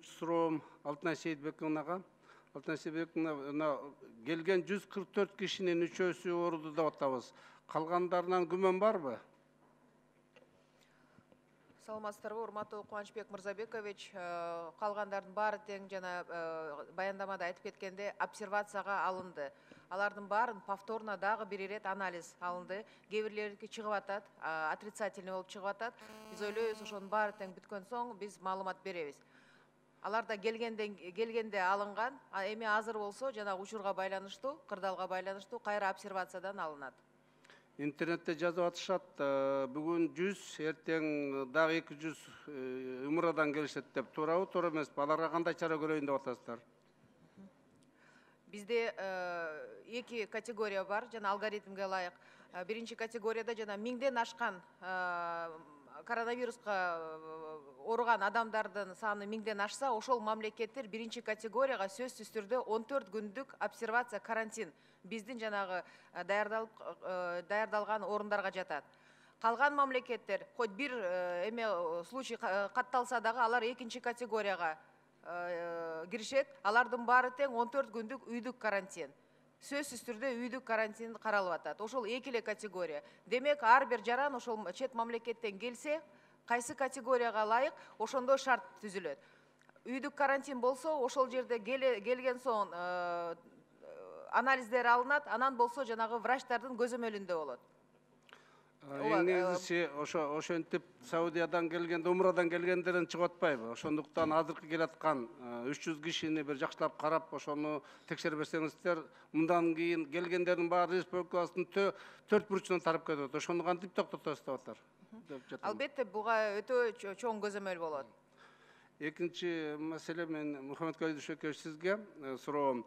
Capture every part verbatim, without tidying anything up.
Экинчи суроом Алтынай Сейитбек мынага. Алтынай Сейитбек мына келген жүз кырк төрт кишинин үчөөсү ооруду деп атабыз. Калгандарынан күмөн барбы? Саламатсыздарбы, урматтуу Кубанычбек Мырзабекович. Калгандардын баары тең жана баяндамада айтып кеткенде обсервацияга алынды. Алардын баарын повторно дагы бир ирет анализ алынды. Кээ бирлериники чыгып атат, отрицательный болуп чыгып атат. Биз ойлойбуз, ошонун баары тең бүткөн соң биз маалымат беребиз. Алар да келгенден келгенде алынган, эми азыр болсо жана учурга байланыштуу, кырдаалга байланыштуу кайра обсервациядан алынат. Интернетте жазып атышат, бүгүн жүз, эртең дагы эки жүз Умрадан келишет деп. Туурабы, туура эмеспи? Аларга кандай чара көрөйүн деп атасыздар? Бизде эки категория бар, жана алгоритмге ылайык. Биринчи категорияда жана миңден ашкан коронавируска ооруган адамдардын саны миңден ашса, ошол мамлекеттер биринчи категорияга сөзсүз түрдө он төрт күндүк обсервация, карантин биздин жанагы даярдалып даярдалган орундарга жатат. Калган мамлекеттер хоть бир эме случай катталса дагы алар экинчи категорияга киришет. Алардын баары тең он төрт күндүк үйдүк карантин. Сөзсүз түрдө үйдүк карантин каралып атат. Ошол эки эле категория. Демек, ар бир жаран ошол чет мамлекеттен келсе, кайсы категорияга ылайык, ошондой шарт түзүлөт. Үйдүк карантин болсо, ошол жерде келген соң анализдер алынат, анан болсо жанагы врачтардын көзөмөлүндө болот. Эң негизгиси ошо ошентип Саудиядан келгенде, Умрадан келгендерден чыгып атпайбы? Ошондуктан азыркы келаткан үч жүз кишини бир жакшылап карап, ошону текшере берсеңиздер, мындан кийин келгендердин баары республикабыздын төрт бурчунан тарап кетет. Ошону кантип токтотосуз деп атар? Албетте, буга өтө чоң көзөмөл болот. Экинчи маселе, мен Мухаммедкалий Дүйшөкевич сизге суроом.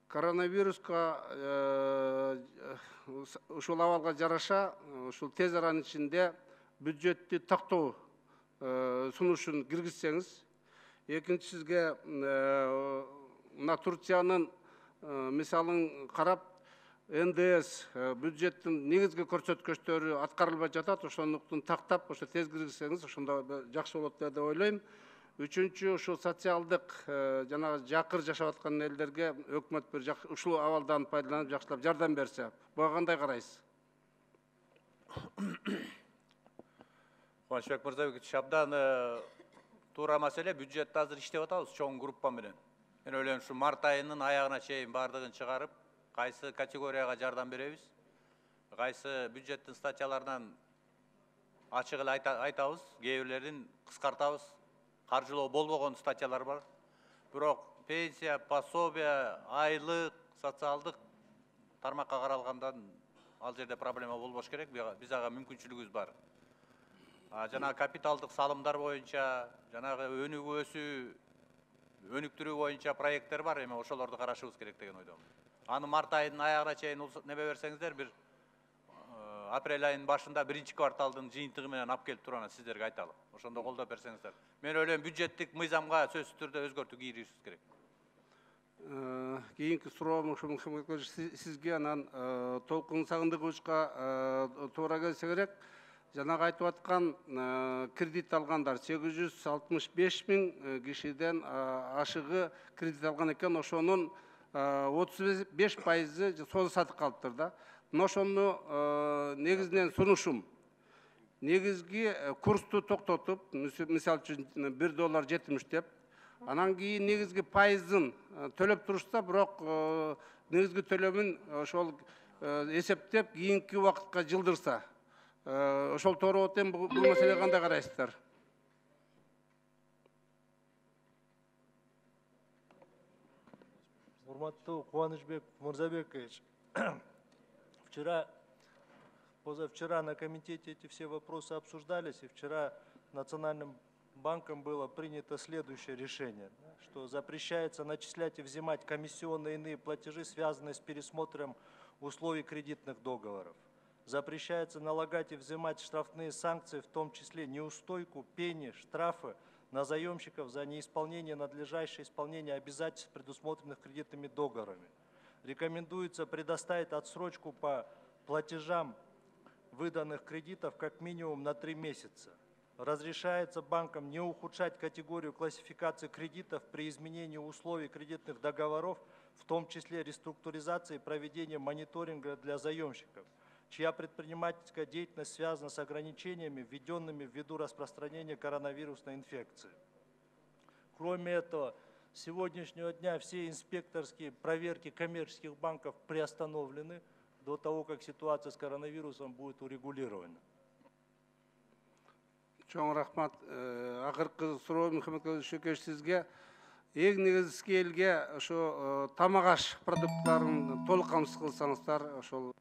Коронавируска ушул абалга жараша, ушул тез аранын ичинде бюджетти токтоо сунушун киргизсеңиз. Экинчи, сизге мына Турциянын мисалын карап, эн дэ эс бюджеттин негизги көрсөткүчтөрү аткарылбай жатат, ошондуктан тактап, ошо тез киргизсеңиз, ошондо жакшы болот деп ойлойм. Үчүнчү, ушул социалдык жана жакыр жашап аткан элдерге өкмөт бир ушул абалдан пайдаланып жакшылап жардам берсе, буга кандай карайсыз? Кубанычбек Мырзабекович, абдан туура маселе. Бюджетте азыр иштеп атабыз чоң группа менен. Мен ойлойм, ушу март айынын аягына чейин бардыгын чыгарып, кайсы категорияга жардам беребиз, кайсы бюджеттин статьяларынан ачык эле айтабыз, кээ бирлерин кыскартабыз. Каржылоо болбогон статьялар бар. Бирок пенсия, пособие, айлык, социалдык тармакка каралгандан ал жерде проблема болбош керек. Биз ага мүмкүнчүлүгүбүз бар. Жана капиталдык салымдар боюнча, жанагы өнүгүү өсүү, өнүктүрүү боюнча проекттер бар. Эми ошолорду карашыбыз керек деген ойдомун. Аны март айынын аягына чейин небе берсеңиздер, бир апрель айынын башында биринчи кварталдын жыйынтыгы менен алып келип турган сиздерге айталы. Ошондо колдоп берсеңиздер. Мен ойлойм, бюджеттик мыйзамга сөзсүз түрдө өзгөртүү киргизишибиз керек. Кийинки суроом ушул сизге, анан Толкун Сагындыковичка туура келсе керек. Жанагы айтып аткан кредит алгандар сегиз жүз алтымыш беш миң кишиден ашыгы кредит алган экен. Ошонун отуз беш пайызы соода сатып калыптыр да. Ошону негизинен сунушум. Негизги курсту токтотуп, мисалы үчүн бир доллар жетимиш деп, анан кийин негизги пайызын төлөп турушса, бирок негизги төлөмүн ошол эсептеп кийинки убакытка жылдырса, ошол туура болот. Бул маселеге кандай карайсыздар? Урматтуу Кубанычбек Мырзабекович, вчера, позавчера на комитете эти все вопросы обсуждались, и вчера Национальным банком было принято следующее решение, что запрещается начислять и взимать комиссионные и иные платежи, связанные с пересмотром условий кредитных договоров. Запрещается налагать и взимать штрафные санкции, в том числе неустойку, пени, штрафы на заемщиков за неисполнение надлежащее исполнение обязательств, предусмотренных кредитными договорами. Рекомендуется предоставить отсрочку по платежам выданных кредитов как минимум на три месяца. разрешается банкам не ухудшать категорию классификации кредитов при изменении условий кредитных договоров, в том числе реструктуризации и проведения мониторинга для заемщиков, чья предпринимательская деятельность связана с ограничениями, введенными ввиду распространения коронавирусной инфекции. Кроме этого, с сегодняшнего дня все инспекторские проверки коммерческих банков приостановлены до того, как ситуация с коронавирусом будет урегулирована. Чоң рахмат. Акыркы суроо Мухаммед Шөкеш сизге. Эң негизги элге ошо тамак аш продукттарын толук камсыз кылсаңыздар, ошол